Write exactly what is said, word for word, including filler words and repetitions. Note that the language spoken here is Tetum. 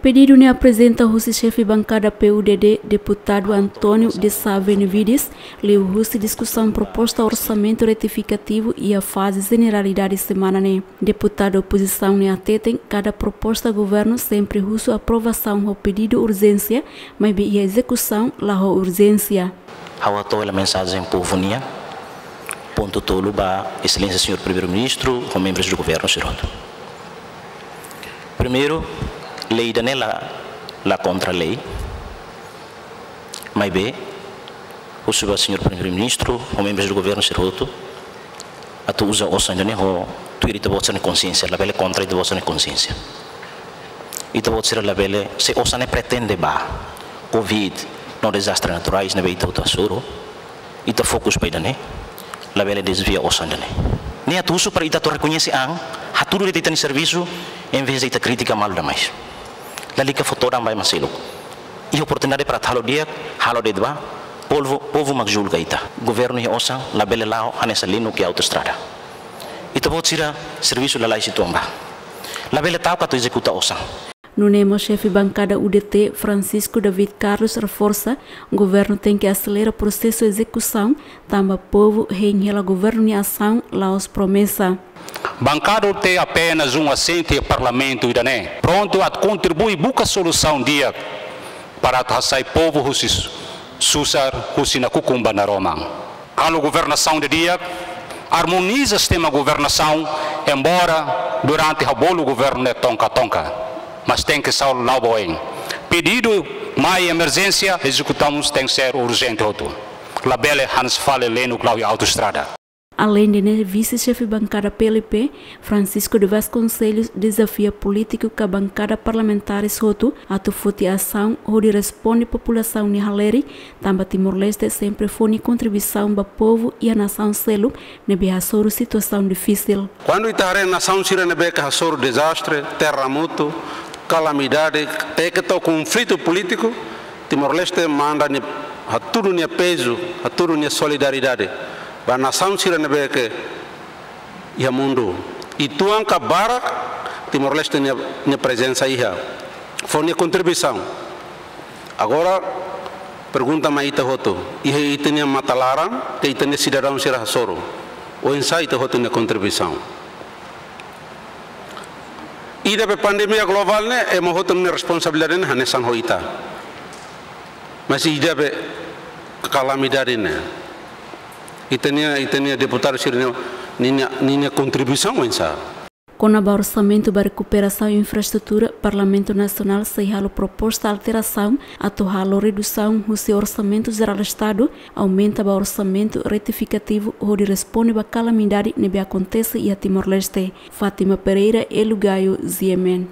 Pedidu ne'e aprezenta husi xefe bankada P U D D, deputadu António de Sá Benevides, liuhusi diskusaun proposta orsamentu retifikativu iha faze jeneralidade semana ne'e. Deputadu opozisaun ne'e hateten, kada proposta governu sempre husu aprovasaun ho pedidu urjénsia, maibé iha ezekusaun la ho urjénsia. Ha'u hato'o hela mensajen povu nian, pontu tolu ba Exelénsia Señór Primeiru-Ministru ho membrus do governu sira hotu. Primeiru, lei ida-ne'e la, la kontra lei. Maibé, husu ba Señór Primeiru-Ministru ho membrus do governu sira hotu atu uza osan ida-ne'e ho tuir ita-boot sira-nia konsiénsia, labele kontra ita-boot sira-nia konsiénsia. Ita-boot sira labele, se osan ne'e pretende ba covid no dezastre naturais ne'ebé ita hotu hasoru, ita fokus ba ida-ne'e, labele dezvia osan ida-ne'e. Ne'e atu husu para ita atu rekoñese an, hatudu de'it ita-nia servisu, envezde ita kritika malu demais. Lalika fó todan ba ema seluk. Iha oportunidade para atu halo di'ak, halo de'it ba, povu, povu mak julga ita. Governu iha osan, labele la'o hanesan Linux iha autoestrada. Ita-boot sira servisu lalais uitoan ba. Labele ta'uk atu ezekuta osan. Nune'e mós xefe bankada U D T, Francisco David Carlos, reforsa, governu tenke aselera prosesu ezekusaun, tanba povu hein hela governu nia asaun, la'ós promesa. Bankada U D T apenas um assente iha Parlamentu ida-ne'e. Prontu atu kontribui buka solusaun di'ak para atu hasai povu husi susar, husi nakukun ba naroman. Halo governasaun didi'ak, armoniza sistema governasaun, embora durante ha'u bolu governu ne'e tonka-tonka. Mas tenke sa'e la'o ba oin. Pedidu mai emerjénsia, ezekusaun tenke ser urjente hotu. Labele hanesan fali Linux la'o iha autoestrada. Aleinde ne'e, vise-xefe bankada P L P, Francisco de Vasconcelos, dezafia polítiku ka bankada parlamentares hotu atu foti asaun hodi responde populasaun nia halerik, tanba Timor-Leste sempre fó nia kontribuisaun ba povu iha nasaun seluk ne'ebé hasoru situasaun difisil. Kuandu ita haree nasaun sira ne'ebé ke hasoru dezastre, terremotu, kalamidade, até ke to'o konflitu polítiku, Timor-Leste manda nia, hatudu nia pezu, hatudu nia solidariedade ba nasaun sira ne'ebé ke iha mundu. Uitoan ka barak, Timor-Leste nia, nia prezensa iha, fó nia kontribuisaun. Agora, pergunta mai ita hotu, iha ita-nia matan laran, ke ita-nia sidadaun sira hasoru, oinsá ita hotu nia kontribuisaun? Ida be pandemia globál ne'e, ema hotu nia responsabilidade ne'e hanesan ho ita. Mas ida be kalamidade ne'e, ita-nia, ita-nia deputadu sira-nia, ninia, ninia kontribuisaun oinsá? Kona-ba orsamentu ba rekuperasaun infraestrutura, Parlamentu Nasionál sei halo proposta alterasaun atu halo redusaun husi Orsamentu Jerál Estadu, aumenta ba orsamentu retifikativu hodi responde ba kalamidade ne'ebé akontese iha Timor-Leste. Fátima Pereira, Hélio Gaio, G M N.